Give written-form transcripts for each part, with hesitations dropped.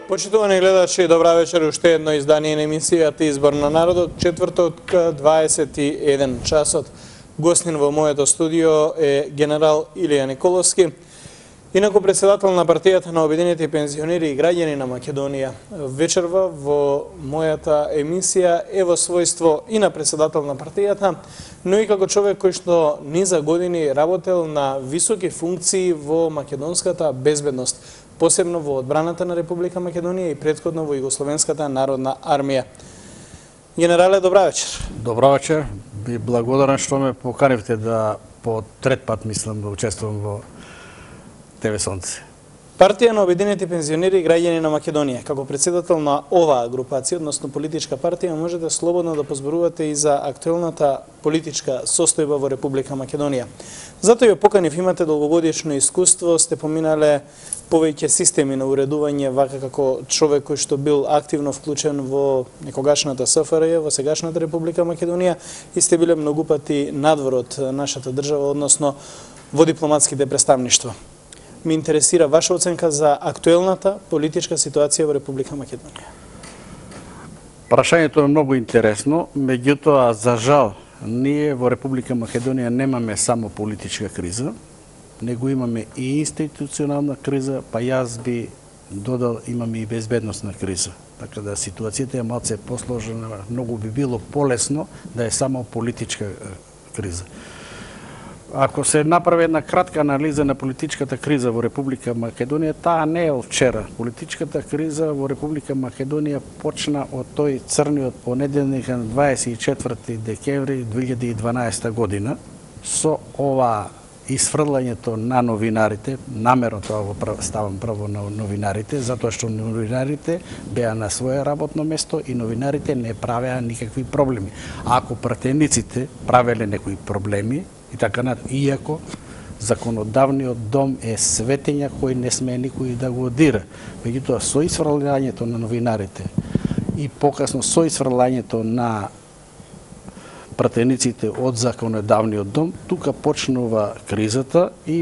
Почитувани гледачи, добра вечер, уште едно издание на емисијата Избор на народот, четврток 21 часот. Гостин во моето студио е генерал Илија Николовски, инаку председател на партијата на Обединети пензионери и граѓани на Македонија. Вечерва во мојата емисија е во својство и на председател на партијата, но и како човек кој што низа години работел на високи функции во македонската безбедност, посебно во одбраната на Република Македонија и претходно во Југословенската народна армија. Генерале, добра вечер. Добра вечер. Би благодарен што ме поканивте да по трет пат мислам да учествувам во ТВ Сонце. Партија на Обединети пензионери и граѓани на Македонија, како председател на оваа групација, односно политичка партија, можете слободно да позборувате и за актуелната политичка состојба во Република Македонија. Затоа ја поканив, имате долгогодишно искуство, сте поминале повеќе системи на уредување, вака како човек кој што бил активно вклучен во некогашната СФРЈ, во сегашната Република Македонија, и сте биле многу пати надвор од нашата држава, односно во дипломатските представништва. Ме интересира ваша оценка за актуелната политичка ситуација во Република Македонија. Прашањето е многу интересно, меѓутоа, за жал, ние во Република Македонија немаме само политичка криза, него имаме и институционална криза, па јас би додал имаме и безбедносна криза. Така да ситуацијата е малце посложена, многу би било полесно да е само политичка криза. Ако се направи една кратка анализа на политичката криза во Република Македонија, таа не е од вчера. Политичката криза во Република Македонија почна од тој црниот понеделник на 24 декември 2012 година со ова исфрлањето на новинарите, намерно тоа го ставам право на новинарите, затоа што новинарите беа на своје работно место и новинарите не правеа никакви проблеми. Ако пратениците правеле некои проблеми, и така иако законодавниот дом е светења кој не смее никој да го дира. Меѓутоа, со исфрлањето на новинарите и покасно со исфрлањето на пратениците од законодавниот дом, тука почнува кризата и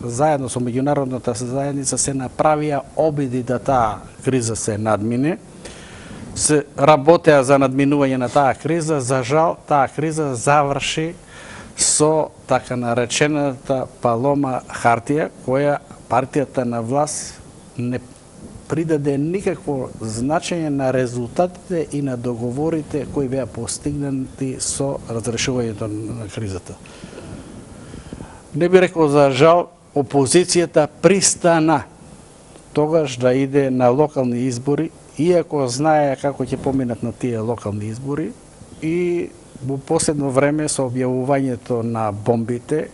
заедно со меѓународната заедница се направија обиди да таа криза се надмине. Се работеа за надминување на таа криза, за жал таа криза заврши со така наречената палома хартија, која партијата на власт не придаде никакво значење на резултатите и на договорите кои беа постигнати со разрешувањето на кризата. Не би рекол за жал, опозицијата пристана тогаш да иде на локални избори, иако знае како ќе поминат на тие локални избори, и во последно време со објавувањето на бомбите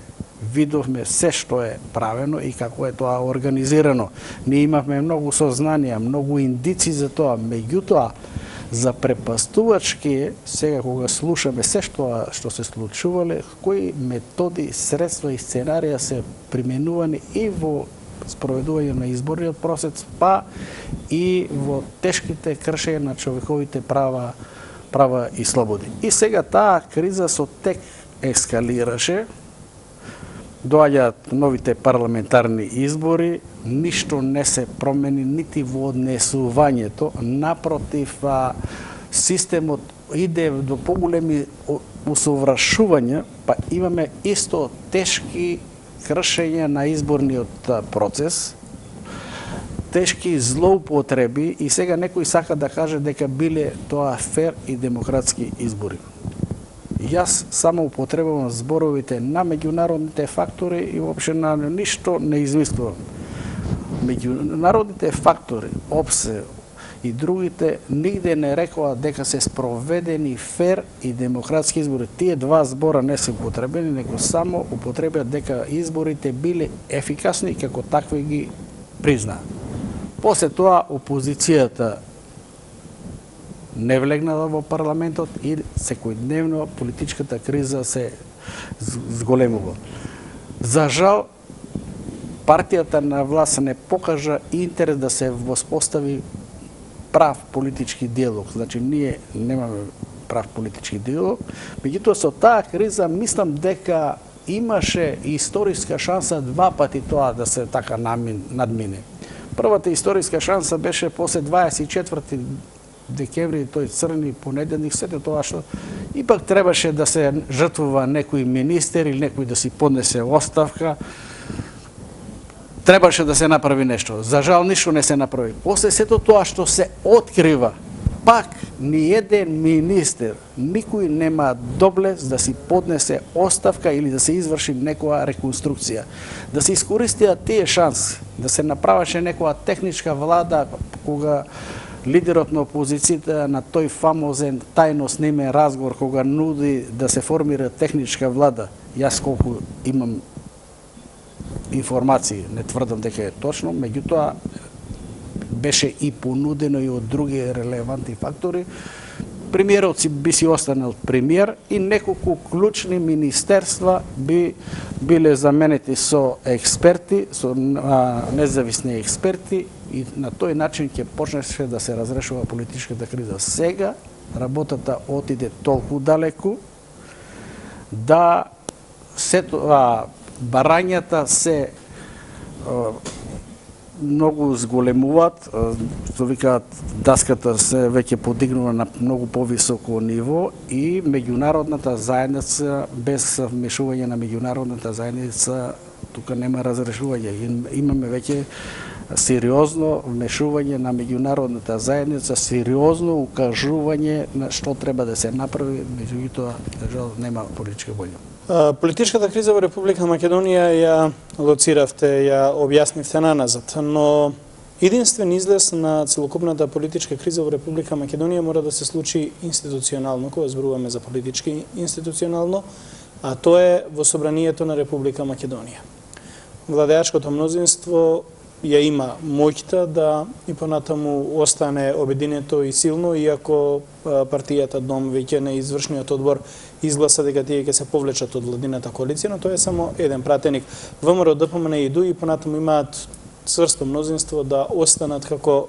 видовме се што е правено и како е тоа организирано. Ние имавме многу сознанија, многу индици за тоа, меѓутоа за препастувачки сега кога слушаме се што се случувале, кои методи, средства и сценарија се применувани и во спроведување на изборниот процес, па и во тешките кршења на човековите права и слободи. И сега таа криза со тек ескалираше, доаѓаат новите парламентарни избори, ништо не се промени нити во однесувањето, напротив, системот иде до поголеми усовршувања, па имаме исто тешки кршења на изборниот процес, тешки злоупотреби, и сега некој сака да каже дека биле тоа фер и демократски избори. Јас само употребувам зборовите на меѓународните фактори и воопшто на ништо не измислувам. Меѓународните фактори, ОПСЕ и другите нигде не рекоа дека се спроведени фер и демократски избори. Тие два збора не се употребени, него само употребија дека изборите биле ефикасни и како такви ги признаа. После тоа опозицијата не влегнала во парламентот и секојдневно политичката криза се зголемува. За жал, партијата на власт не покажа интерес да се воспостави прав политички диалог. Значи, ние немаме прав политички диалог. Меѓутоа, со таа криза мислам дека имаше историска шанса два пати тоа да се така надмине. Првата историска шанса беше после 24 декември, тој црни понеделник, сето тоа што ипак требаше да се жртвува некој министер или некој да си поднесе оставка. Требаше да се направи нешто. За жал ништо не се направи. После сето тоа што се открива, пак ни еден министер, никој нема доблест да си поднесе оставка или да се изврши некоја реконструкција. Да се искористија тие шанси, да се направеше некоја техничка влада кога лидерот на опозицијата на тој фамозен тајно снимен разговор кога нуди да се формира техничка влада. Јас колку имам информации, не тврдам дека е точно, меѓутоа беше и понудено и од други релевантни фактори. Премиерот би си останал премиер и неколку клучни министерства би биле заменети со експерти, со независни експерти и на тој начин ќе почнеше да се разрешува политичката криза. Сега работата отиде толку далеку да барањата се многу зголемуваат, што викаат даската се веќе подигнува на многу повисоко ниво и меѓународната заедница, без вмешување на меѓународната заедница, тука нема разрешување. Имаме веќе сериозно вмешување на меѓународната заедница, сериозно укажување на што треба да се направи, меѓутоа, жал, нема политичка воља. Политичката криза во Република Македонија ја лоциравте, ја објаснивте наназад, но единствен излез на целокупната политичка криза во Република Македонија мора да се случи институционално, кога зборуваме за политички институционално, а тоа е во Собранието на Република Македонија. Владеачкото мнозинство ја има моќта да и понатаму остане обединето и силно, иако партијата Дом веќе на извршниот одбор изгласа дека тие ќе се повлечат од владината коалиција, но тоа е само еден пратеник. ВМРО, ДПМН и ДУ и понатаму имаат цврсто мнозинство да останат како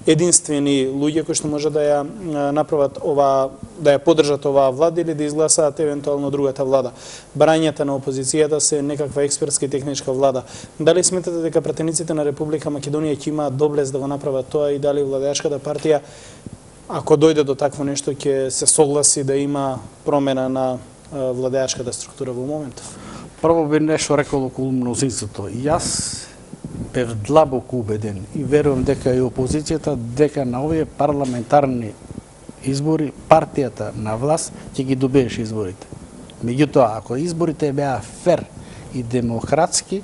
единствени луѓе кои што може да ја направат да ја поддржат оваа влада или да изгласаат евентуално другата влада. Барањата на опозицијата се некаква експертска и техничка влада. Дали сметате дека пратениците на Република Македонија ќе имаат доблест да го направат тоа и дали владеачката партија, ако дојде до такво нешто, ќе се согласи да има промена на владеачката структура во моментов? Прво би нешто рекол околу мнозинството. Јас бев длабоко убеден и верувам дека и опозицијата, дека на овие парламентарни избори партијата на власт ќе ги добиеше изборите. Меѓутоа, ако изборите беа фер и демократски,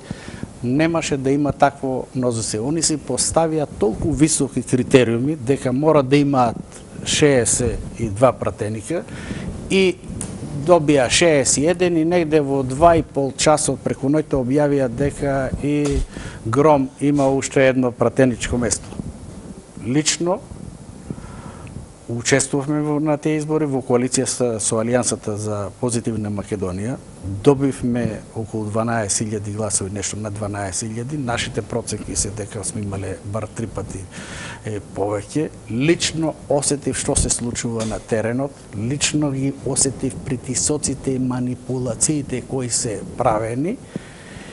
немаше да има такво мнозинство. Они си поставија толку високи критериуми дека мора да имаат 62 пратеника и добија 61 и негде во 2,5 часот преку ноќта објавија дека и Гром има уште едно пратеничко место. Лично учествувавме на тие избори во коалиција со Алијансата за позитивна Македонија. Добивме околу 12.000 гласови, нешто на 12.000. Нашите проценки се дека сме имале бар 3 пати повеќе. Лично осетив што се случува на теренот, лично ги осетив притисоците и манипулациите кои се правени.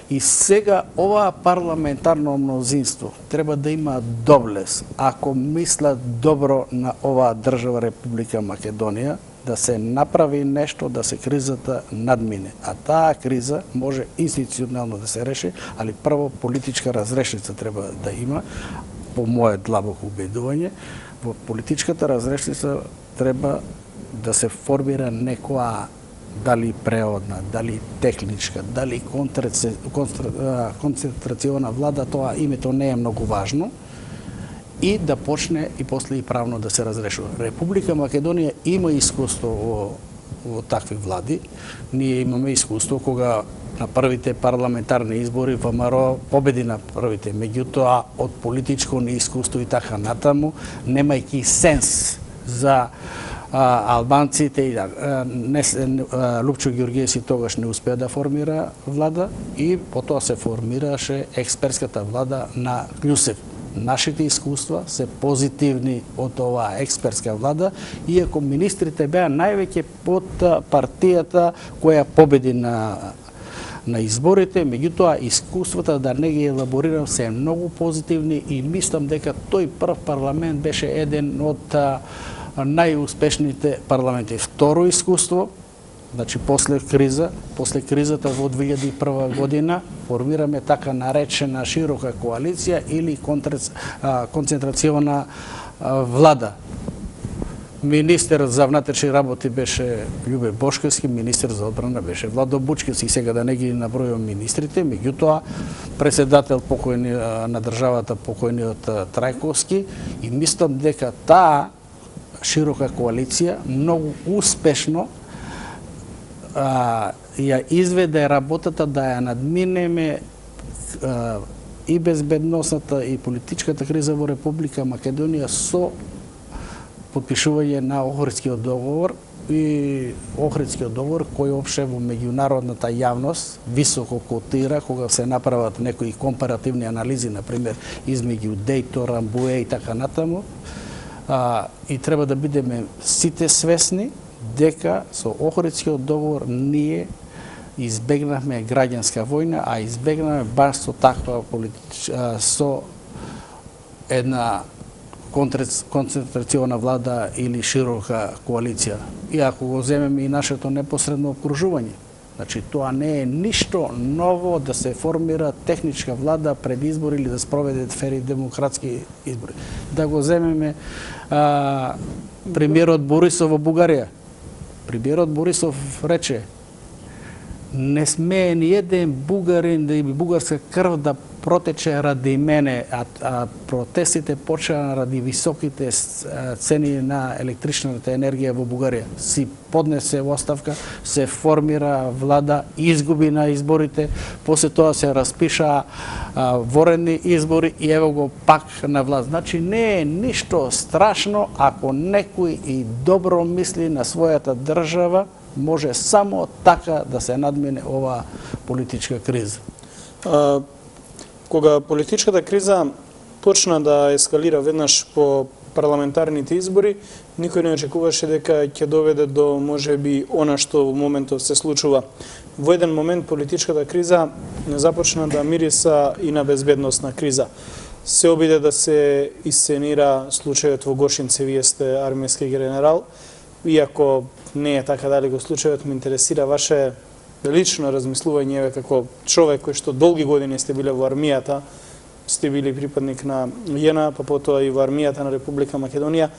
И сега оваа парламентарно мнозинство треба да има доблест, ако мислат добро на оваа држава Република Македонија, да се направи нешто да се кризата надмине. А таа криза може институционално да се реши, али прво политичка разрешница треба да има, по мое длабоко убедување. Во политичката разрешница треба да се формира некоја дали преодна, дали техничка, дали концентрациона влада, тоа името не е многу важно, и да почне и после и правно да се разрешува. Република Македонија има искуство во такви влади. Ние имаме искуство кога на првите парламентарни избори ВМРО победи на првите, меѓутоа од политичко неискуство и така натаму, немајќи сенс за албанците и Лупчо Ѓорѓиевски тогаш не успеа да формира влада и потоа се формираше експертската влада на Кљусев. Нашите искуства се позитивни од оваа експертска влада, иако министрите беа највеќе под партијата која победи на на изборите, меѓутоа искуствата да не ги елаборирам се многу позитивни и мислам дека тој прв парламент беше еден од најуспешните парламенти. Второ искуство, значи после кризата во 2001 година формираме така наречена широка коалиција или концентрациона влада. Министер за внатрешни работи беше Љубе Бошковски, министер за одбрана беше Владо Бучковски, сега да не ги набројувам министрите, меѓутоа председател покојни на државата покојниот Трајковски, и мислам дека таа широка коалиција многу успешно ја изведе работата да ја надминеме и безбедносната и политичката криза во Република Македонија со подпишување на Охридскиот договор, и Охридскиот договор кој опше во меѓународната јавност високо котира кога се направат некои компаративни анализи, например измеѓу Дејтон, Рамбуе и така натаму. И треба да бидеме сите свесни дека со Охридскиот договор ние избегнавме граѓанска војна, а избегнавме баш со таква со една концентрациона влада или широка коалиција. И ако го земеме и нашето непосредно обкружување, значи тоа не е ништо ново да се формира техничка влада пред избори или да спроведе фери демократски избори. Да го земеме премиерот Борисов во Бугарија. Премиерот Борисов рече: не смее ни еден бугарин да и бугарска крв да протече ради мене, а протестите почнаа ради високите цени на електричната енергија во Бугарија. Си поднесе оставка, се формира влада, изгуби на изборите, после тоа се распишаа воредни избори и ево го пак на власт. Значи не е ништо страшно ако некој и добро мисли на својата држава, може само така да се надмине оваа политичка криза. Кога политичката криза почна да ескалира веднаш по парламентарните избори, никој не очекуваше дека ќе доведе до можеби она што во моментов се случува. Во еден момент политичката криза не започна да мириса и на безбедносна криза. Се обиде да се исценира случајот во Гошинце, вие сте армијски генерал, иако не е така далеко случајот, ме интересира ваше лично размислување како човек кој што долги години сте биле во армијата, сте били припадник на ЈНА, па потоа и во армијата на Република Македонија.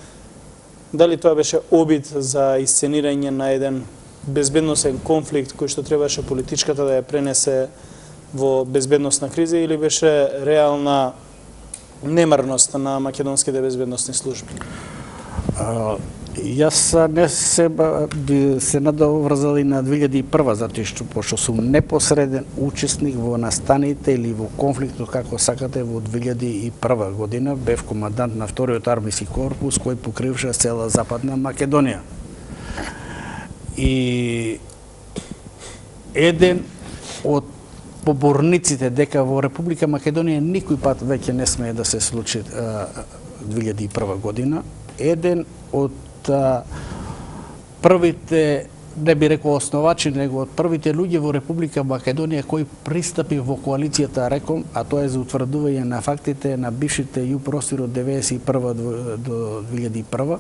Дали тоа беше обид за исценирање на еден безбедносен конфликт кој што требаше политичката да ја пренесе во безбедносна криза, или беше реална немарност на македонските безбедносни служби? Јас не се надоврзал и на 2001, затоа што пошто сум непосреден учесник во настаните или во конфликтот, како сакате, во 2001 година. Бев командант на вториот армиски корпус кој покриваше цела Западна Македонија. И еден од поборниците дека во Република Македонија никој пат веќе не смее да се случи 2001 година, еден од првите, не би рекол основачи, него од првите луѓе во Република Македонија кои пристапи во коалицијата РЕКОМ, а тоа е за утврдување на фактите на бившите ЈУ-простори од 1991 до 2001,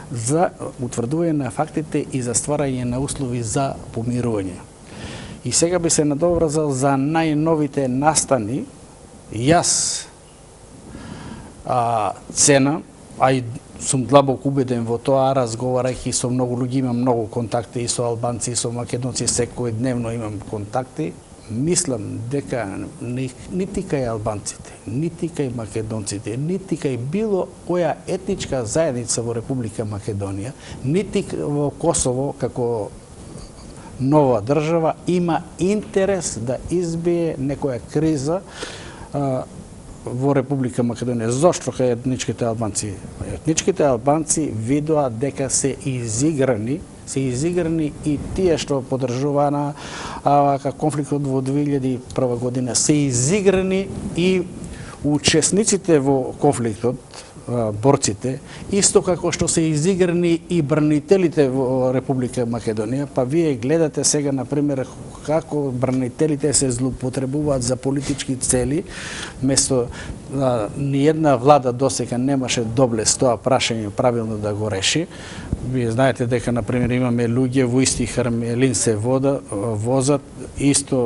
за утврдување на фактите и за стварање на услови за помирување. И сега би се надоврзал за најновите настани. Јас цена, а и сум длабоко убеден во тоа, разговарајќи со многу луѓе, имам многу контакти и со албанци, и со македонци, секојдневно имам контакти. Мислам дека нити кај албанците, нити кај македонците, нити кај било која етничка заедница во Република Македонија, нити во Косово како нова држава има интерес да избие некоја криза во Република Македонија. Зошто кај етничките албанци? Етничките албанци видоа дека се изиграни и тие што поддржуваа конфликтот во 2001 година, се изиграни и учесниците во конфликтот борците, исто како што се изиграни и бранителите во Република Македонија, па вие гледате сега, например, како бранителите се злоупотребуваат за политички цели, место ниедна влада досега немаше доблест тоа прашање правилно да го реши. Вие знаете дека, например, имаме луѓе во исти Хармелин се возат,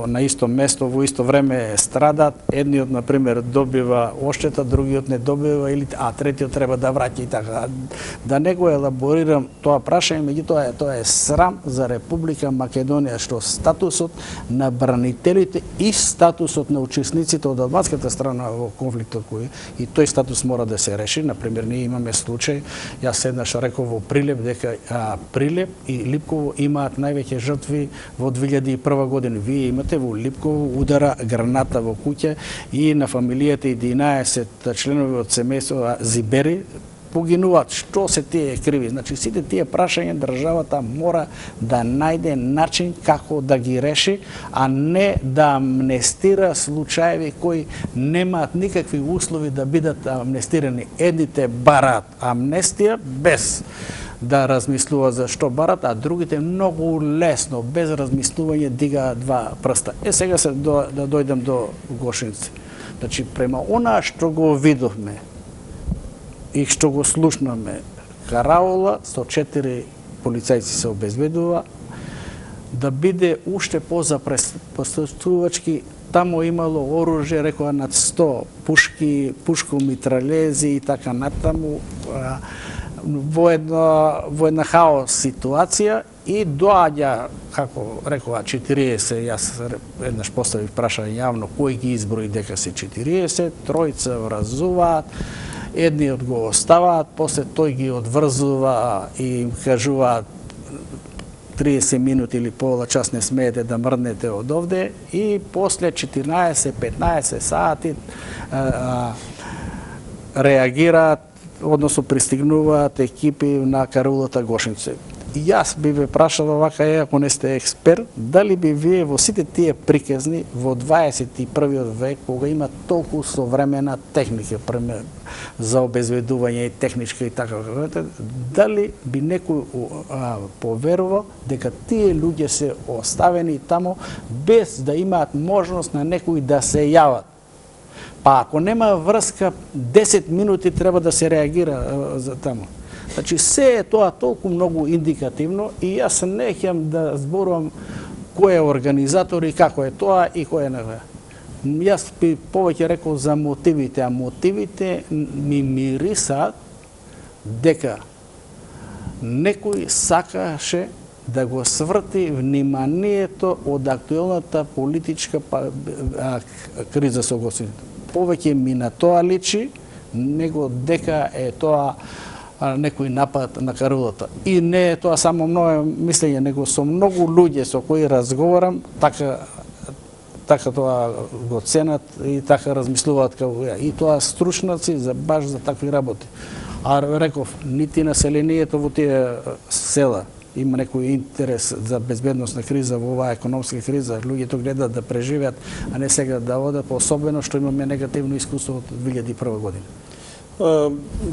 на исто место, во исто време страдат, едниот, например, добива оштета, другиот не добива, а третиот треба да враќа и така. Да не го елаборирам тоа прашање, меѓутоа тоа е срам за Република Македонија, што статусот на бранителите и статусот на учесниците од албанската страна во конфликтот и тој статус мора да се реши. Например, ние имаме случај, јас еднаш реков во Прилеп дека Прилеп и Липково имаат највеќе жртви во 2001 година. Вие имате во Липково удара граната во куќа и на фамилијата 11 членови од семејство Зибери погинуваат. Што се тие криви? Значи, сите тие прашања државата мора да најде начин како да ги реши, а не да амнестира случаеви кои немаат никакви услови да бидат амнестирани. Едните бараат амнестија без да размислува за што барат, а другите многу лесно, без размислување, дигаат два прста. Сега да дојдем до Гошинци. Значи, према онаа што го видовме и што го слушнаме, караула со 4 полицајци се обезбедува, да биде уште позапресувачки. Тамо имало оружје, рекоа над 100 пушки, пушко-митралези и така натаму, во една хаос ситуација и доаѓа, како рекоа, 40, јас еднаш поставив прашање јавно кој ги изброи дека се 40, тројца вразуваат, едниот го оставаат, после тој ги одврзува и им кажуваат 30 минути или пола час не смеете да мрднете од овде и после 14-15 сати реагираат, односно пристигнуваат екипи на караулата Гошинци. И јас би ве прашал овака, ако не сте експерт, дали би вие во сите тие приказни во 21 век, кога има толку современа техника за обезбедување и техничка и така, дали би некој поверувал дека тие луѓе се оставени тамо без да имаат можност на некој да се јават? Па ако нема врска, 10 минути треба да се реагира за тамо. Значи, се е тоа толку многу индикативно и јас не ќе да зборувам кој е организатор и како е тоа и кој е не. Јас би повеќе рекол за мотивите, а мотивите ми мирисаат дека некој сакаше да го сврти вниманието од актуелната политичка криза со гостините. Повеќе ми на тоа личи, него дека е тоа некој напад на караулата. И не е тоа само мое мислење, него со многу луѓе со кои разговарам, така тоа го ценат и така размислуваат како ја. И тоа стручнаци баш за такви работи. А реков, нити населението во тие села има некој интерес за безбедносна криза во оваа економска криза, луѓето гледаат да преживеат, а не сега да одат, особено што имаме негативно искуство од 2001 година.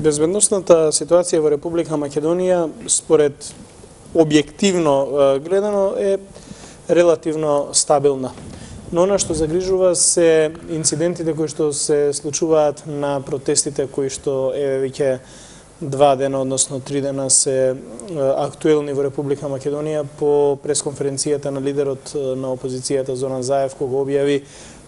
Безбедносната ситуација во Република Македонија, според објективно гледано, е релативно стабилна. Но она што загрижува се инцидентите кои што се случуваат на протестите кои што веќе 2 дена, односно 3 дена се актуелни во Република Македонија по пресконференцијата на лидерот на опозицијата Зоран Заев, кога објави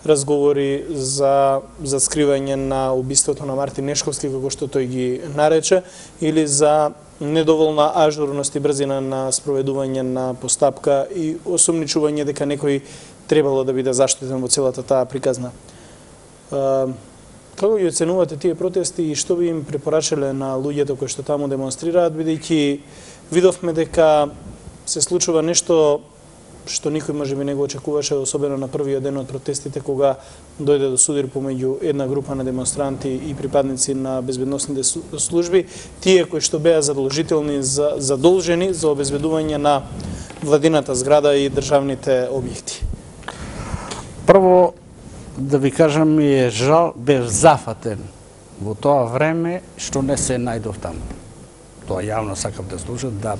разговори за скривање на убиството на Мартин Нешковски, како што тој ги нарече, или за недоволна ажурност и брзина на спроведување на постапка и осумничување дека некој требало да биде заштитен во целата таа приказна. Како ги оценувате тие протести и што би им препорачале на луѓето кои што таму демонстрираат, бидејќи видовме дека се случува нешто што никој можеби не го очекуваше, особено на првиот ден од протестите, кога дојде до судир помеѓу една група на демонстранти и припадници на безбедносните служби, тие кои што беа задолжени за обезбедување на владината зграда и државните објекти. Прво, да ви кажам, ми е жал, бев зафатен во тоа време што не се најдов таму. Тоа јавно сакам да слушам, да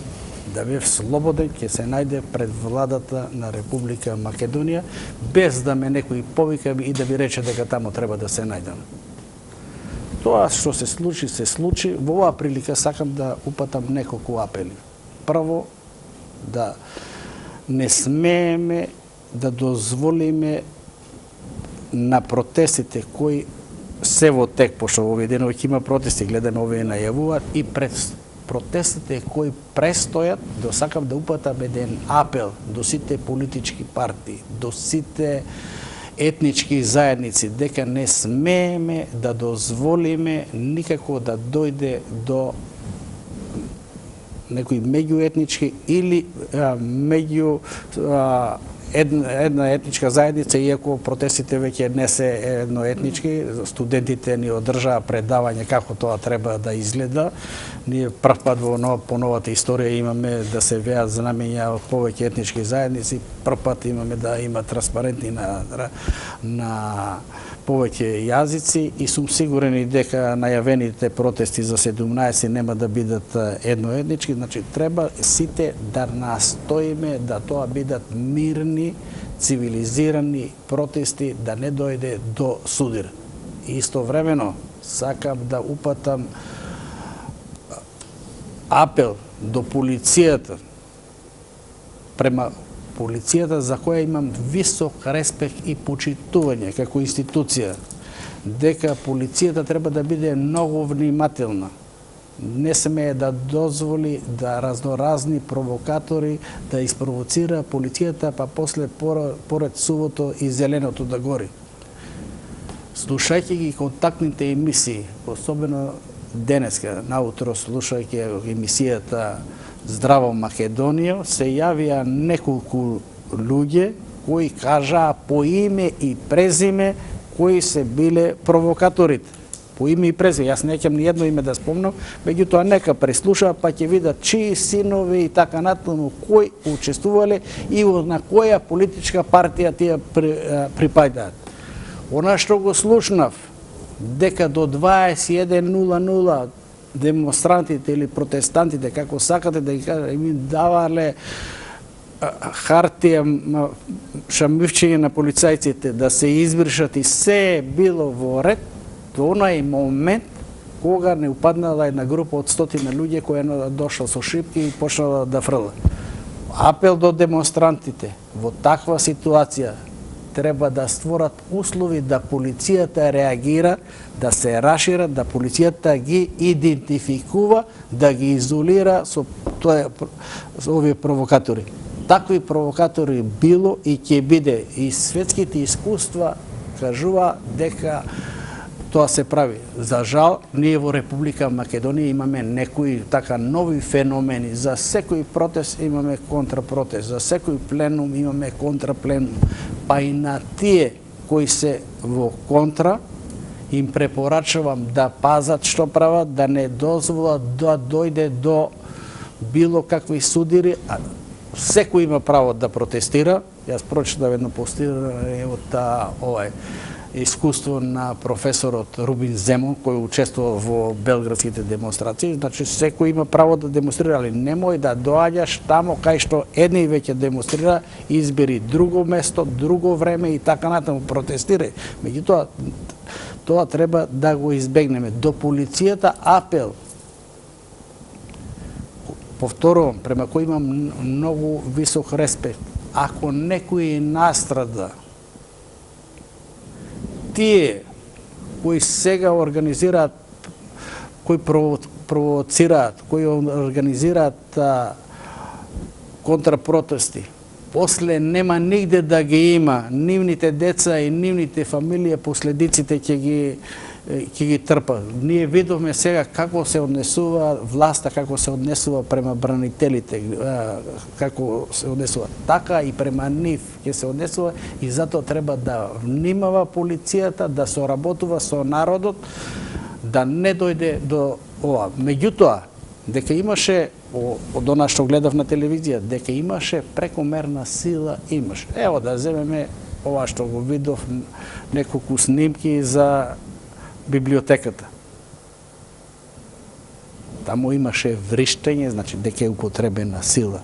бев слободен, ќе се најде пред владата на Република Македонија, без да ме некој повика и да ви рече дека таму треба да се најдам. Тоа што се случи, се случи. Во оваа прилика сакам да упатам неколку апели. Прво, да не смееме да дозволиме на протестите кои се во тек, пошто овие денови ќе има протести, гледаме овие најавуваат, и пред протестите кои престојат, сакам да упатам еден апел до сите политички партии, до сите етнички заедници, дека не смееме да дозволиме никако да дојде до некои меѓуетнички или меѓу една етничка заедница, иако протестите веќе не се едноетнички. Студентите ни одржаа предавање како тоа треба да изгледа. Ние прв пат по новата историја имаме да се веат знамења од повеќе етнички заедници, прв пат имаме да има транспарентни на повеќе јазици, и сум сигурен и дека најавените протести за 17 нема да бидат едноетнички. Значи, треба сите да настоиме да тоа бидат мирни, цивилизирани протести, да не дојде до судир. И истовремено сакам да упатам апел до полицијата, према полицијата, за која имам висок респект и почитување како институција, дека полицијата треба да биде многу внимателна. Не смее да дозволи да разноразни провокатори да испровоцира полицијата, па после поред сувото и зеленото да гори. Слушајќи ги контактните емисии, особено денеска, наутро слушајќи емисијата Здраво Македонија, се јавија неколку луѓе кои кажаа по име и презиме кои се биле провокаторите. По име и презиме. Јас неќам ни едно име да спомнам, меѓутоа нека преслушаа, па ќе видат чии синови и така натаму кои учествувале и на која политичка партија тие припаѓаат. Она што го слушнав, дека до 21:00 демонстрантите или протестантите, како сакате да ги кажа, им давале хартија, шамивчење на полицајците да се избришат и се било во ред, до онај момент кога не упаднала една група од 100 луѓе која дошла со шипки и почнала да фрла. Апел до демонстрантите, во таква ситуација треба да створат услови да полицијата реагира, да се рашира, да полицијата ги идентификува, да ги изолира со овие провокатори. Такви провокатори било и ќе биде, и светските искуства кажува дека тоа се прави. За жал, ние во Република Македонија имаме некои така нови феномени. За секој протест имаме контрапротест, за секој пленум имаме контрапленум. Па и на тие кои се во контра, им препорачувам да пазат што прават, да не дозволат да дојде до било какви судири. Секој има право да протестира. Јас прочитав едно постирање од искуство на професорот Рубин Земон, кој учествува во белградските демонстрации. Значи, секој има право да демонстрира, али немој да доаѓаш тамо кај што едни веќе демонстрира, избери друго место, друго време и така натаму протестирај. Меѓутоа, тоа треба да го избегнеме. До полицијата апел. Повторувам, према кој имам многу висок респект. Ако некој настрада, тие кои сега организираат, кои провоцираат, кои организираат контрапротести, после нема нигде да ги има нивните деца и нивните фамилија, последиците ќе ги трпа. Ние видовме сега како се однесува власта, како се однесува према бранителите, како се однесува. Така и према нив ќе се однесува, и затоа треба да внимава полицијата, да соработува со народот, да не дојде до ова. Меѓутоа, дека имаше, од она што гледав на телевизија, дека имаше прекомерна сила, имаше. Ево да земеме ова што го видов, неколку снимки за библиотеката. Таму имаше вриштење, значи дека е употребена сила.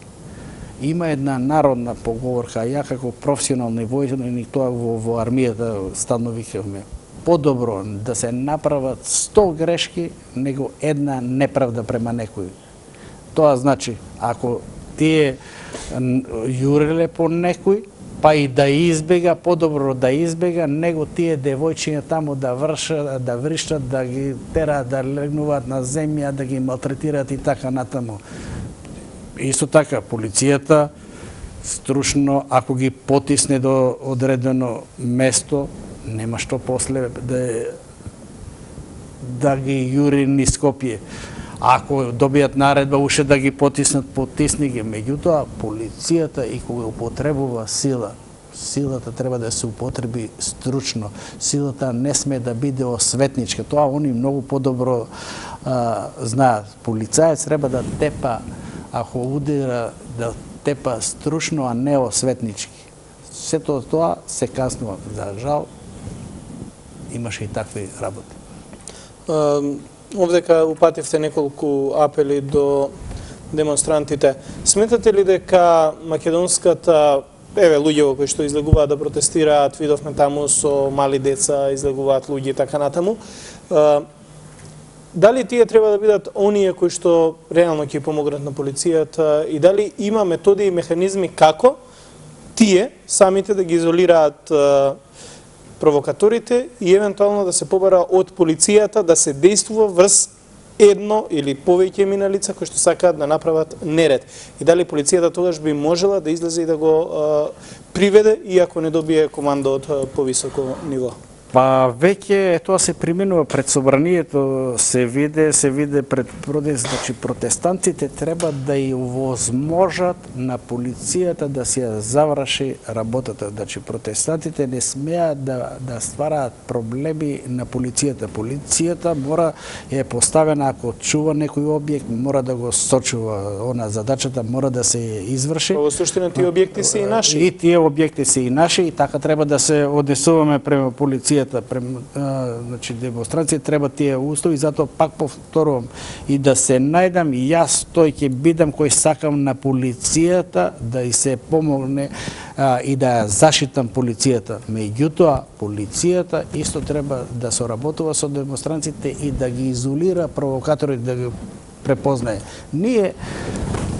Има една народна поговорка, ја како професионални војник, тоа во армијата стално викавме, подобро да се направат 100 грешки, него една неправда према некој. Тоа значи, ако тие јуреле по некој, па и да избега, подобро да избега, него тие девојчиња таму да вриштат, да ги тераат да легнуваат на земја, да ги малтретираат и така натаму. Исто така, полицијата струшно, ако ги потисне до одредено место, нема што после да ги јури низ Скопје. Ако добијат наредба уште да ги потисни ги. Меѓутоа, полицијата и кога употребува сила, силата треба да се употреби стручно. Силата не сме да биде осветничка. Тоа они многу подобро знаат. Полицаец треба да тепа, ако удира, да тепа стручно, а не осветнички. Сето тоа се каснува. За жал, имаше и такви работи. Овдека упативте неколку апели до демонстрантите. Сметате ли дека македонската, луѓе кои што излегуваат да протестираат, видовме таму со мали деца, излегуваат луѓе и така натаму, дали тие треба да бидат оние кои што реално ќе помогнат на полицијата и дали има методи и механизми како тие самите да ги изолираат провокаторите и евентуално да се побара од полицијата да се действува врз едно или повеќе мина лица кои што сакаат да направат неред. И дали полицијата тогаш би можела да излезе и да го приведе, иако не добие команда од повисоко ниво? Па веќе тоа се применува пред собранието, се виде пред протест, значи протестантите треба да и возможат на полицијата да си ја заврши работата. Значи протестантите не смеат да ствараат проблеми на полицијата. Полицијата мора е поставена, ако чува некој објект, мора да го сочува. Она задачата мора да се изврши. Во суштина тие објекти се и наши. И тие објекти се и наши и така треба да се однесуваме према полицијата. Значи демонстрација треба тие услови, затоа пак повторувам и да се најдам и јас тој ќе бидам кој сакам на полицијата да и се помогне и да зашитам полицијата. Меѓутоа полицијата исто треба да соработува со демонстрантите и да ги изолира провокаторите, да ги препознае. Ние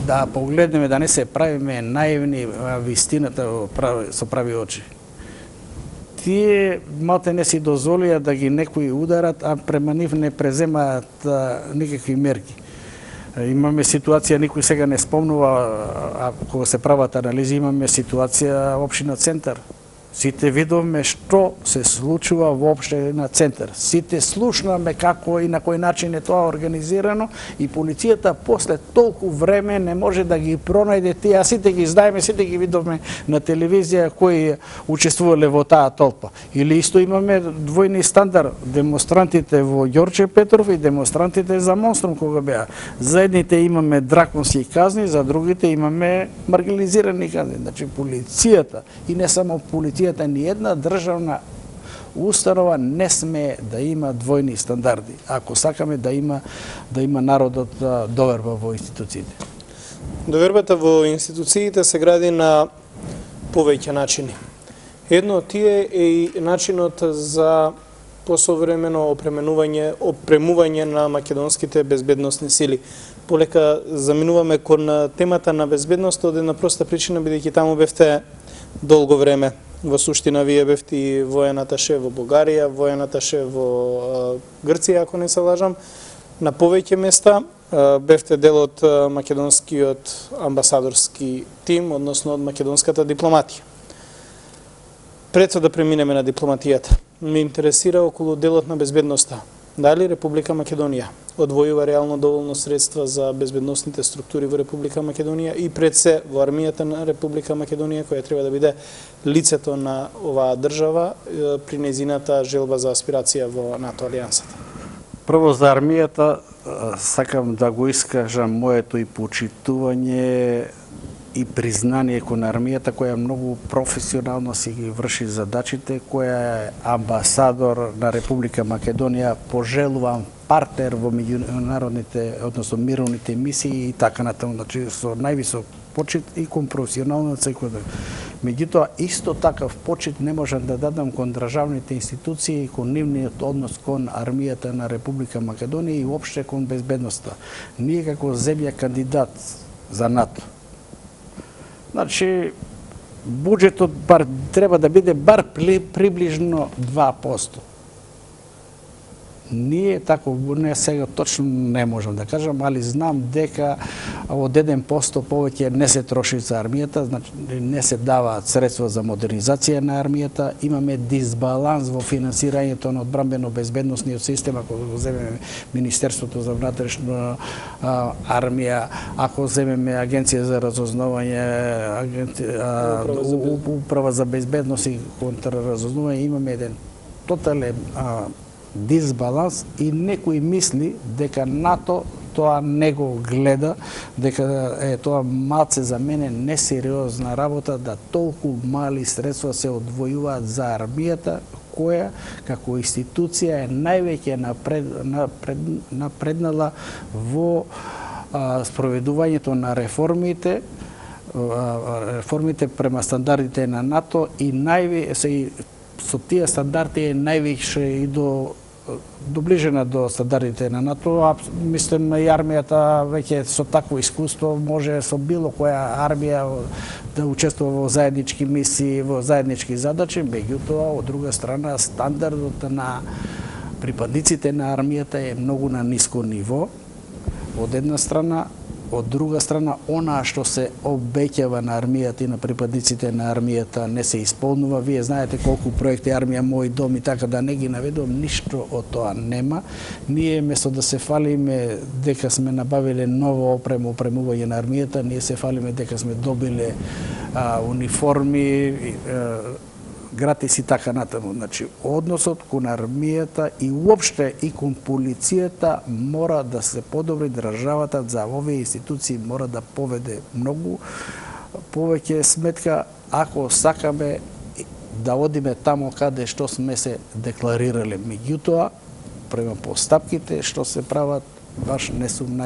да погледнеме, да не се правиме наивни, вистината со прави очи. Тие малте не си дозволија да ги некои ударат, а према нив не преземаат никакви мерки. Имаме ситуација, никој сега не спомнува, а кога се прават анализи, имаме ситуација општина Центар. Сите видовме што се случува воопште на Центар. Сите слушнаме како и на кој начин е тоа организирано и полицијата после толку време не може да ги пронајде тие, а сите ги знаеме, сите ги видовме на телевизија кои учествувале во таа толпа. Или исто имаме двојни стандард, демонстрантите во Ѓорче Петров и демонстрантите за Монструм кога беа. За едните имаме драконски казни, за другите имаме маргинализирани казни. Значи полицијата и не само полицијата, ни една државна установа не сме да има двојни стандарди, ако сакаме да има народот доверба во институциите. Довербата во институциите се гради на повеќе начини. Едно од тие е и начинот за посовремено опремување на македонските безбедносни сили. Полека заминуваме кон темата на безбедност од една проста причина, бидејќи таму бевте долго време. Во суштина, вие бевте и воен аташе во Бугарија, воен аташе во Грција, ако не се лажам, на повеќе места. Бевте дел од македонскиот амбасадорски тим, односно од македонската дипломатија. Пред да преминеме на дипломатијата, ме интересира околу делот на безбедноста. Дали Република Македонија одвојува реално доволно средства за безбедносните структури во Република Македонија и пред се во армијата на Република Македонија, која треба да биде лицето на оваа држава при нејзината желба за аспирација во НАТО алијансата? Прво за армијата сакам да го искажам моето и почитување и признание кон армијата, која многу професионално си ги врши задачите, која е амбасадор на Република Македонија, пожелуван партнер во меѓународните, односно мировните мисии и така натаму, значи со највисок почит и кон професионално секој ден. Меѓутоа, исто такав почит не можам да дадам кон државните институции и кон нивниот однос кон армијата на Република Македонија и уопште кон безбедноста. Ние како земја кандидат за НАТО, значи, буџетот треба да биде бар приближно 2%. Ние тако, не сега точно не можам да кажам, али знам дека од 1% повеќе не се троши за армијата, значи не се даваат средства за модернизација на армијата, имаме дисбаланс во финансирањето на одбранбено-безбедносниот систем, ако го земеме Министерството за внатрешна армија, ако земеме Агенција за разузнавање, Управа за безбедност и контраразузнавање, имаме еден тотален дисбаланс и некој мисли дека НАТО тоа не го гледа, дека е тоа малце за мене несериозна работа да толку мали средства се одвојуваат за армијата, која како институција е највеќе напреднала во спроведувањето на реформите према стандардите на НАТО и со тие стандарди е највише и доближена до стандардите на НАТО. Мислам и армијата веќе со такво искуство може со било која армија да учествува во заеднички мисии, во заеднички задачи, меѓутоа од друга страна стандардот на припадниците на армијата е многу на ниско ниво. Од една страна, од друга страна, онаа што се обеќава на армијата и на припадниците на армијата не се исполнува. Вие знаете колку проекти Армија мој дом и така да не ги наведувам, ништо од тоа нема. Ние место да се фалиме дека сме набавиле нова опремување на армијата, ние се фалиме дека сме добиле униформи, гратис и така натаму. Значи, односот кон армијата и уопште и кон полицијата мора да се подобри, државата за овие институции мора да поведе многу повеќе сметка ако сакаме да одиме тамо каде што сме се декларирале. Меѓутоа, према постапките што се прават, баш не сум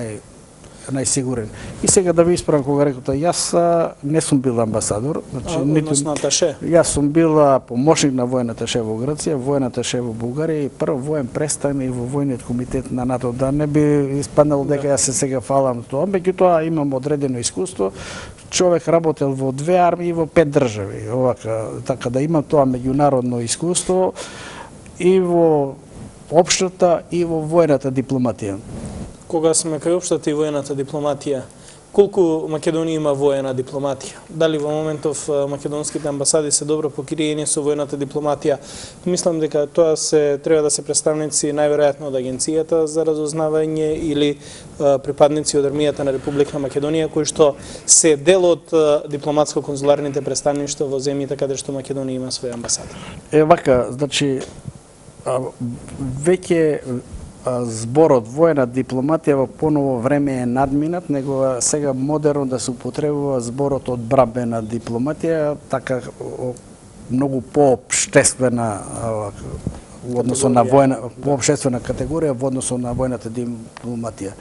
најсигурен. И сега да ви исправам кога рекоте, јас не сум бил амбасадор, значи односно аташе. Јас сум бил помошник на војната шеф во Грција, војната шеф во Бугарија и прв воен представник во војниот комитет на НАТО. Да не би испаднало дека јас се сега фалам тоа, меѓутоа имам одредено искуство. Човек работел во 2 армии и во 5 држави. Овака, така да имам тоа меѓународно искуство и во општата и во војната дипломатија. Кога сме кај општата и војната дипломатија, колку Македонија има војна дипломатија? Дали во моментов македонските амбасади се добро покриени со војната дипломатија? Мислам дека тоа треба да се представници најверојатно од Агенцијата за разузнавање или припадници од армијата на Република Македонија, кои што се дел од дипломатско-конзуларните представништва во земјите каде што Македонија има своја амбасада. Вака, значи, веќе зборот војна дипломатија во поново време е надминат, него сега модерно да се употребува зборот одбранбена дипломатија, така многу поопштествена во односу на војна, поопштествена категорија во односу на војната дипломатија.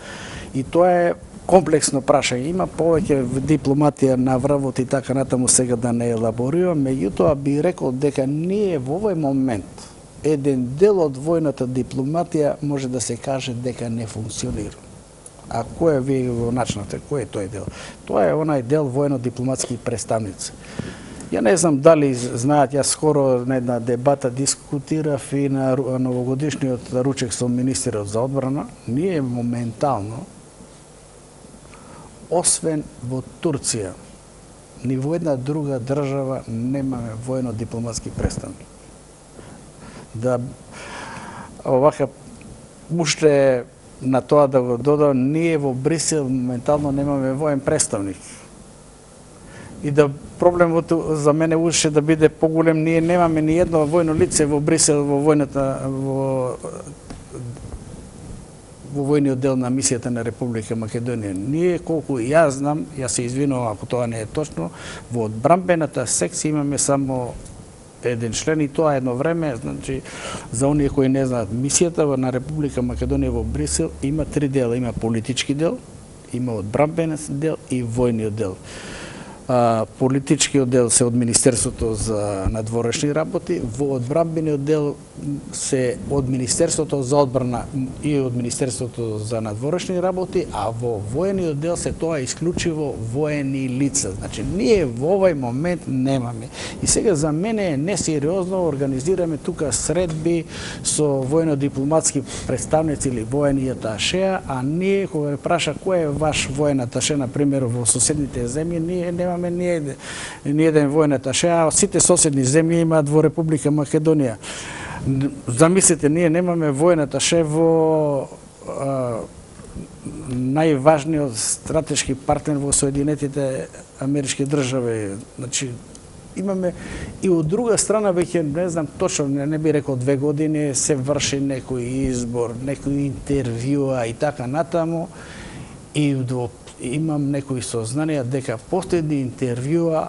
И тоа е комплексно прашање. Има повеќе дипломатија на вравот и така натаму, сега да не елаборирам, меѓутоа би рекол дека ние во овој момент еден дел од војната дипломатија може да се каже дека не функционира. А кој вие го начнате? Кој е тој дел? Тоа е онај дел војно-дипломатски представници. Ја не знам дали знаат, јас скоро на една дебата дискутирав и на новогодишниот ручек со министерот за одбрана. Ние моментално, освен во Турција, ни во една друга држава немаме војно-дипломатски представник. Да овака уште на тоа да го додам, ние во Брисел моментално немаме воен представник. И да проблемот за мене уште да биде поголем, ние немаме ни едно војно лице во Брисел во војната во војниот дел на мисијата на Република Македонија. Ние, колку јас знам, јас се извинувам ако тоа не е точно, во одбрамбената секција имаме само еден член и тоа едно време, значи за оние кои не знаат, мисијата на Република Македонија во Брисел има три дела, има политички дел, има одбрамбен дел и војниот дел. Политичкиот дел се од Министерството за надворешни работи, во одбрамбениот дел се од Министерството за одбрана и од Министерството за надворешни работи, а во војниот дел се тоа исклучиво воени лица. Значи, ние во овој момент немаме. И сега за мене е несериозно организираме тука средби со војно-дипломатски представници или воени аташеа, а ние кога ме праша кој е ваш воен аташе, на пример во соседните земји, ние немаме ни еден воен аташе, а сите соседни земји имаат во Република Македонија. Замислете, ние немаме воен аташе во најважниот стратешки партнер во Соединетите Амерички држави. Значи, имаме и од друга страна веќе не знам точно, не би рекол 2 години се врши некој избор, некој интервјуа и така натаму, и имам некои сознанија дека последни интервјуа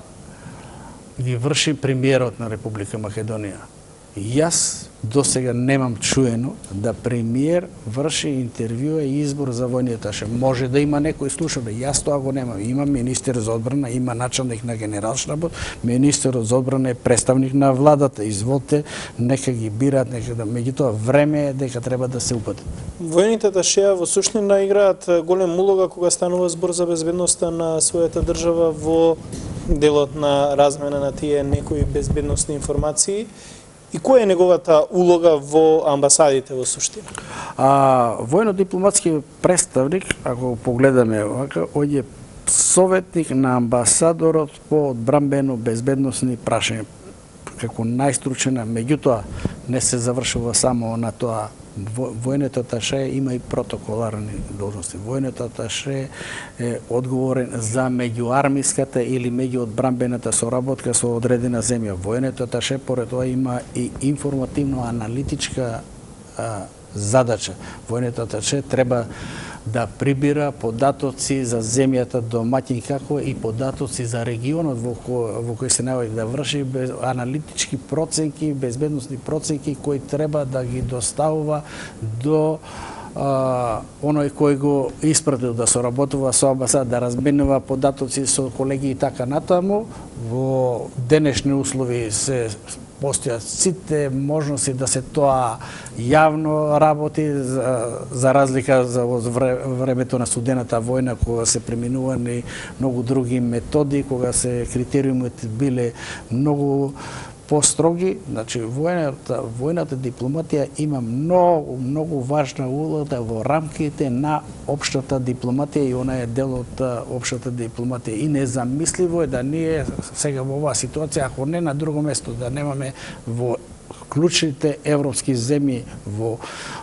ги врши премиерот на Република Македонија. Јас досега немам чуено да премиер врши интервјуа и избор за војни аташе. Може да има некој слушање, јас тоа го немам. Има министер за одбрана, има началник на генералштабот, министерот за одбрана е представник на владата. Изволте, нека ги бираат, нека да, меѓутоа време е дека треба да се упатат. Војните аташеа во суштина играат голем улога кога станува збор за безбедноста на својата држава во делот на размена на тие некои безбедносни информации. И која е неговата улога во амбасадите во суштина? Војно-дипломатски представник, ако погледаме овака, он е советник на амбасадорот по одбрамбено безбедносни прашања, како најстручена. Меѓутоа, не се завршува само на тоа. Војниот аташе има и протоколарни должности. Војниот аташе е одговорен за меѓуармиската или меѓуодбрамбената соработка со одредена земја. Војниот аташе поред тоа има и информативно-аналитичка задача. Војниот аташе треба да прибира податоци за земјата домаќин, како и податоци за регионот во кој се наоѓа, да врши аналитички проценки, безбедносни проценки кои треба да ги доставува до оној кој го испратил да соработува со амбасада, да разменува податоци со колеги и така натаму. Во денешни услови се постојат сите можности да се тоа јавно работи, за разлика за времето на студената војна, кога се преминувани многу други методи, кога се критериумите биле многу построги. Значи, војната дипломатија има многу важна улога во рамките на општата дипломатија и она е дел од општата дипломатија. И незамисливо е да ние сега во оваа ситуација, ако не на друго место, да немаме во клучните европски земји, во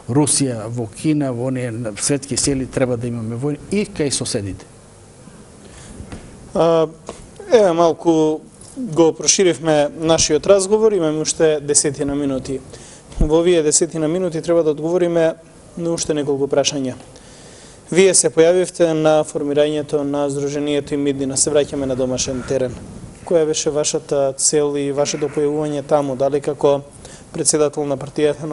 Русија, во Кина, во оние светски сили, треба да имаме војни и кај соседите. Еве малку го проширивме нашиот разговор, имаме уште 10 минути. Во овие 10 минути треба да одговориме на уште неколку прашања. Вие се појавивте на формирањето на Сдруженијето Имиднина, се враќаме на домашен терен. Која беше вашата цел и вашето појавување таму, дали како председател на партијата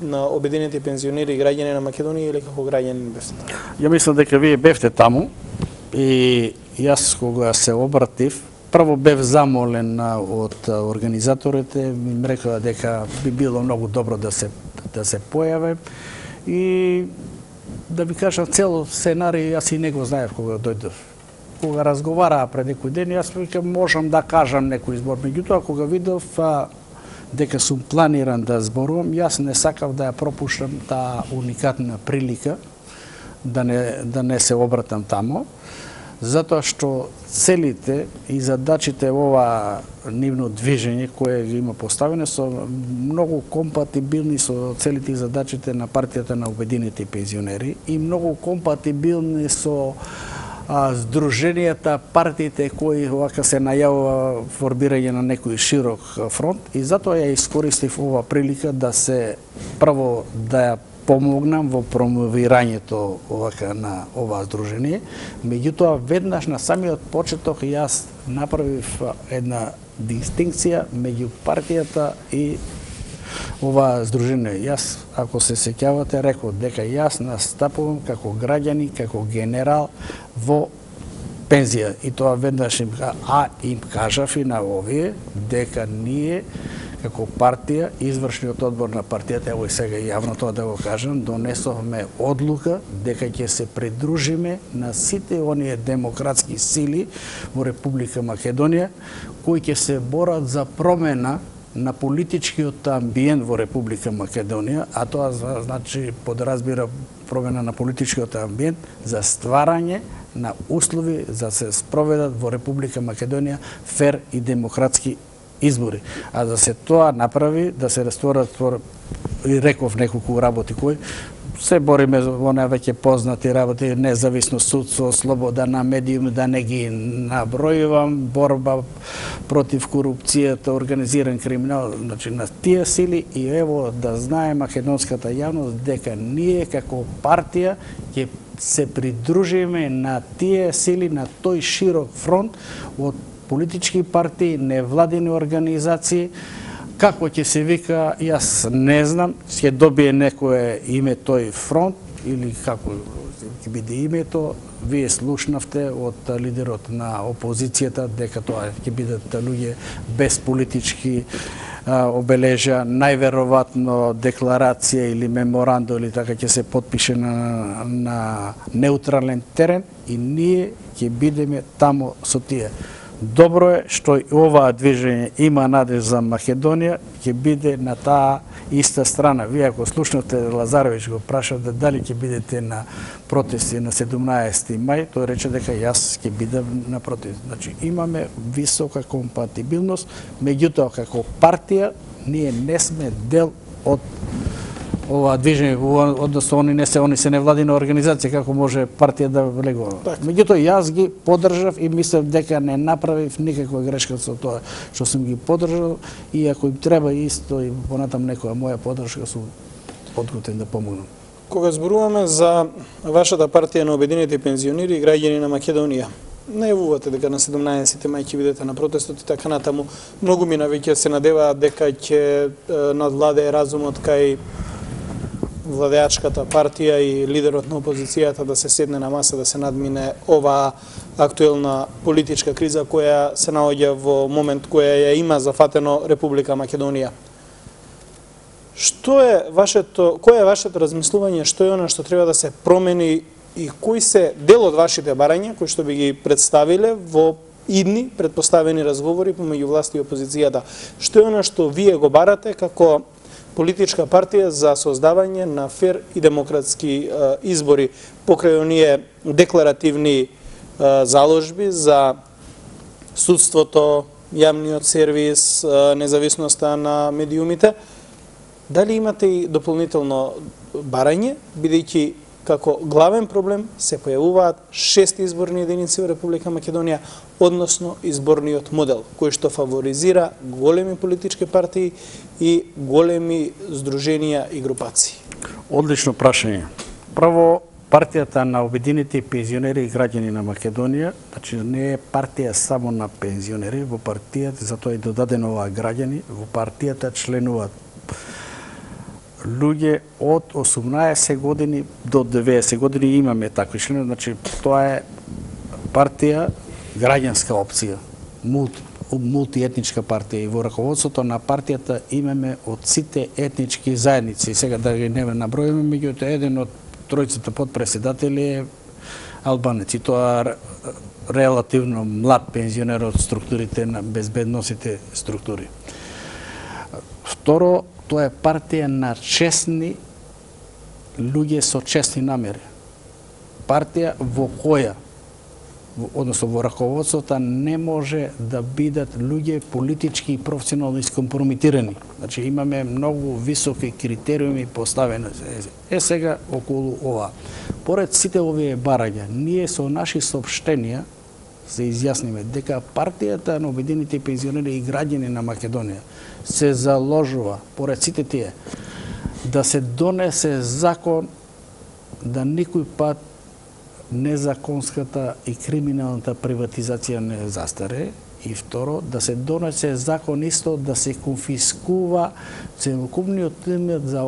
на обединети пензионери и граѓани на Македонија или како граѓанин бевте? Ја мислам дека вие бевте таму и јас кога се обратив, прво бев замолен од организаторите, ми рекоа дека би било многу добро да се појавам и да ви кажам цело сценарij, јас и не го знаев кога дојдов. Кога разговараа пред некој ден, јас викам можам да кажам некој збор, меѓутоа кога видов дека сум планиран да зборувам, јас не сакав да ја пропуштам таа уникатна прилика да не се обратам тамо, затоа што целите и задачите ова нивно движење кое ги има поставено со многу компатибилни со целите и задачите на партијата на обединети пензионери и многу компатибилни со здруженијата, партиите кои овака се најавува формирање на некој широк фронт и затоа ја искористив ова прилика да се прво да ја помогнам во промовирањето на ова здружение. Меѓутоа, веднаш на самиот почеток јас направив една дистинкција меѓу партијата и ова здружение. Јас, ако се сеќавате, реков дека јас настапувам како граѓани, како генерал во пензија. И тоа веднаш им кажав и на овие дека ние како партија, извршниот одбор на партијата, ево и сега јавно тоа да го кажам, донесовме одлука дека ќе се придружиме на сите оние демократски сили во Република Македонија кои ќе се борат за промена на политичкиот амбиент во Република Македонија, а тоа значи подразбира промена на политичкиот амбиент за стварање на услови за се спроведат во Република Македонија фер и демократски избори. А да се тоа направи, да се рестворат, и реков неколку работи кои се бориме во веќе познати работи, независно судство, слобода на медиум, да не ги набројувам, борба против корупцијата, организиран криминал, значи на тие сили, и ево да знае македонската јавност дека ние како партија ќе се придружиме на тие сили, на тој широк фронт од политички партии, невладини организации. Како ќе се вика, јас не знам, ќе добие некое име тој фронт или како ќе биде името. Вие слушнавте од лидерот на опозицијата дека тоа ќе бидат луѓе без политички обележа, најверојатно декларација или меморандум или така ќе се потпише на неутрален терен и ние ќе бидеме тамо со тие. Добро е што и оваа движење има надеж за Македонија, ќе биде на таа иста страна. Вие ако слушнате Лазарович го прашав дали ќе бидете на протести на 17 мај, тој рече дека јас ќе бидам на протест. Значи имаме висока компатибилност, меѓутоа како партија ние не сме дел од ова движење, односно они се невладина организација, како може партија да влегува. Меѓутоа јас ги поддржав и мислев дека не направив никаква грешка со тоа што сум ги поддржал, и ако им треба исто и понатам некоја моја поддршка, сум подготвен да помогнам. Кога зборуваме за вашата партија на обединети пензионери и граѓани на Македонија, најавувате дека на 17 мај ќе бидете на протестот и така натаму, многу мина веќе се надеваат дека ќе надвладее разумот кај владеачката партија и лидерот на опозицијата да се седне на маса, да се надмине оваа актуелна политичка криза која се наоѓа во момент која ја има зафатено Република Македонија. Кој е вашето размислување, што е она што треба да се промени и кои се дел од вашите барања кои што би ги представиле во идни предпоставени разговори помеѓу власт и опозицијата? Што е она што вие го барате како политичка партија за создавање на фер и демократски избори покрај оние декларативни заложби за судството, јавниот сервис, независноста на медиумите? Дали имате и дополнително барање, бидејќи како главен проблем се појавуваат 6 изборни единици во Република Македонија, односно изборниот модел, кој што фаворизира големи политички партии и големи здруженија и групации? Одлично прашање. Прво, партијата на обединети пензионери и граѓани на Македонија, значи не е партија само на пензионери, во партијата, затоа и додадено оваа граѓани, во партијата членуваат луѓе од 18 години до 90 години, имаме такви членови, значи тоа е партија, граѓанска опција, мултиетничка партија, и во раководството на партијата имаме од сите етнички заедници. Сега да ги не набројуваме, меѓутоа еден од тројцата подпредседатели е албанец, и тоа релативно млад пензионер од структурите на безбедносните структури. Второ, тоа е партија на честни луѓе со честни намери. Партија во која, односно во раководството, не може да бидат луѓе политички и професионално искомпрометирани. Значи имаме многу високи критериуми поставени. Сега околу ова. Поред сите овие барања, ние со наши соопштенија се изјасниме дека партијата на обединети пензионери и граѓани на Македонија се заложува, поред сите тие, да се донесе закон да никој пат незаконската и криминалната приватизација не застаре. И второ, да се донесе закон исто да се конфискува целокупниот имот за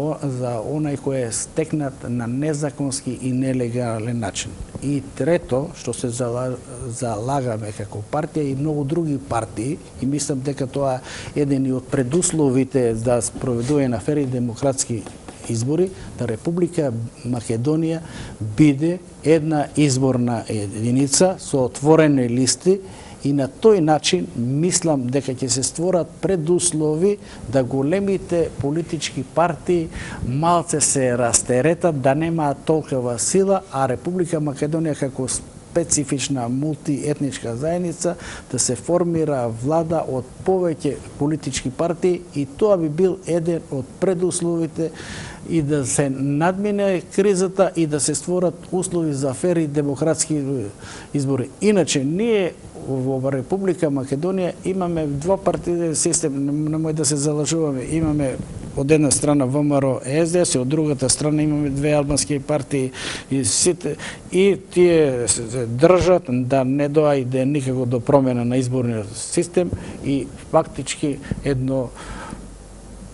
онај кој е стекнат на незаконски и нелегален начин. И трето, што се залагаме како партија и многу други партии, и мислам дека тоа е еден од предусловите за спроведување на фер и демократски избори, да Република Македонија биде една изборна единица со отворени листи. И на тој начин мислам дека ќе се створат предуслови да големите политички партии малце се растеретат, да немаат толкова сила, а Република Македонија како специфична мултиетничка заедница да се формира влада од повеќе политички партии, и тоа би бил еден од предусловите и да се надмине кризата и да се створат услови за фер и демократски избори. Иначе ние во Република Македонија имаме двопартиен систем, немој да се залажуваме. Имаме од една страна ВМРО СДС, и од другата страна имаме две албански партии и тие се држат да не доајде никако до промена на изборниот систем и фактички едно,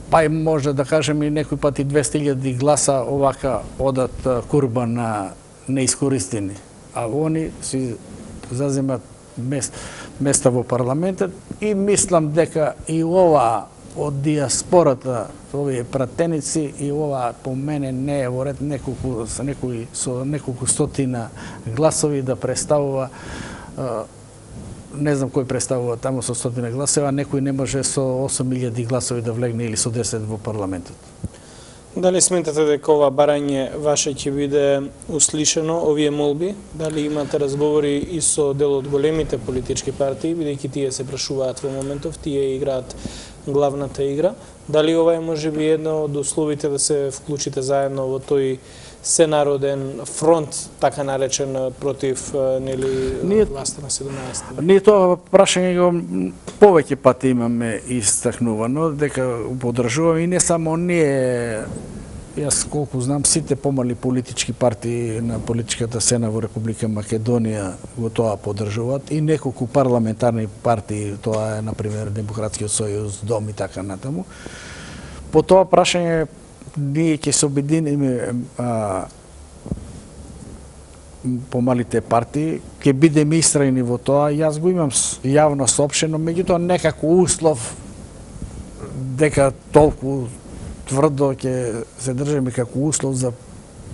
па и може да кажем и некој пат и 200.000 гласа овака одат курба на неискористени, а они си заземат места во парламентот. И мислам дека и ова од диаспората, овие пратеници, и ова по мене не е во ред со неколку стотина гласови да представува, не знам кој представува таму со 100 гласови, а некој не може со 8.000 гласови да влегне или со 10 во парламентот. Дали сметате дека ова барање ваше ќе биде услишено, овие молби? Дали имате разговори и со дел од големите политички партии, бидејќи тие се прашуваат во моментов, тие играат главната игра? Дали ова е можеби едно од условите да се вклучите заедно во тој сенароден фронт, така наречен, против власта на 17? Ние тоа прашање го повеќе пати имаме истакнувано, дека поддржуваме, и не само ние. Јас колку знам, сите помали политички партии на политичката сцена во Република Македонија го тоа поддржуваат, и неколку парламентарни партии, тоа е например Демократскиот сојуз, Дом и така натаму. По тоа прашање ние ќе се обединиме помалите партии, ќе бидеме истрајни во тоа. Јас го имам јавно соопштено, меѓутоа некако услов дека толку тврдо ќе се држиме како услов за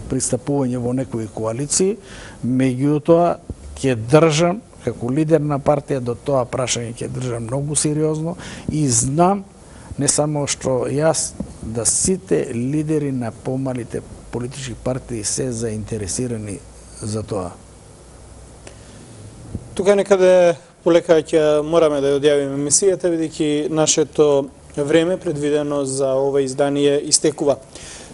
пристапување во некои коалиции, меѓутоа ќе држам како лидер на партија до тоа прашање, ќе држам многу сериозно, и знам не само што јас, да сите лидери на помалите политички партии се заинтересирани за тоа. Тука некаде полека ќе мораме да ја одјавиме емисијата, бидејќи нашето време предвидено за ова издание истекува.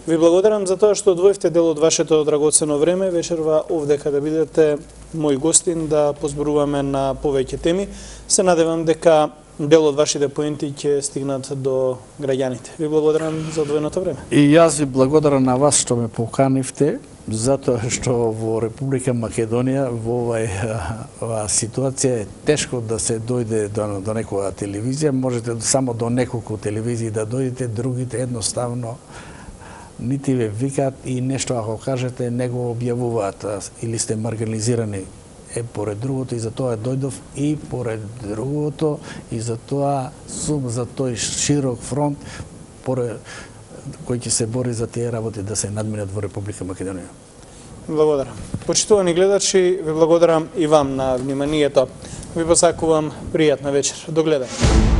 Ви благодарам за тоа што одвоивте дел од вашето драгоцено време вечерва овдека да бидете мој гостин, да позборуваме на повеќе теми. Се надевам дека дел од вашите поенти ќе стигнат до граѓаните. Ви благодарам за одвоеното време. И јас ви благодарам на вас што ме поканивте, затоа што во Република Македонија во оваа ситуација е тешко да се дојде до некоја телевизија. Можете само до неколку телевизии да дојдете, другите едноставно нити ве викаат, и нешто ако кажете не го објавуваат, или сте маргинализирани. Поред другото, и за тоа дојдов, и поред другото, и за тоа сум за тој широк фронт кој ќе се бори за тие работи да се надминат во Република Македонија. Благодарам. Почитувани гледачи, ви благодарам и вам на вниманието. Ви посакувам пријатна вечер. До гледање.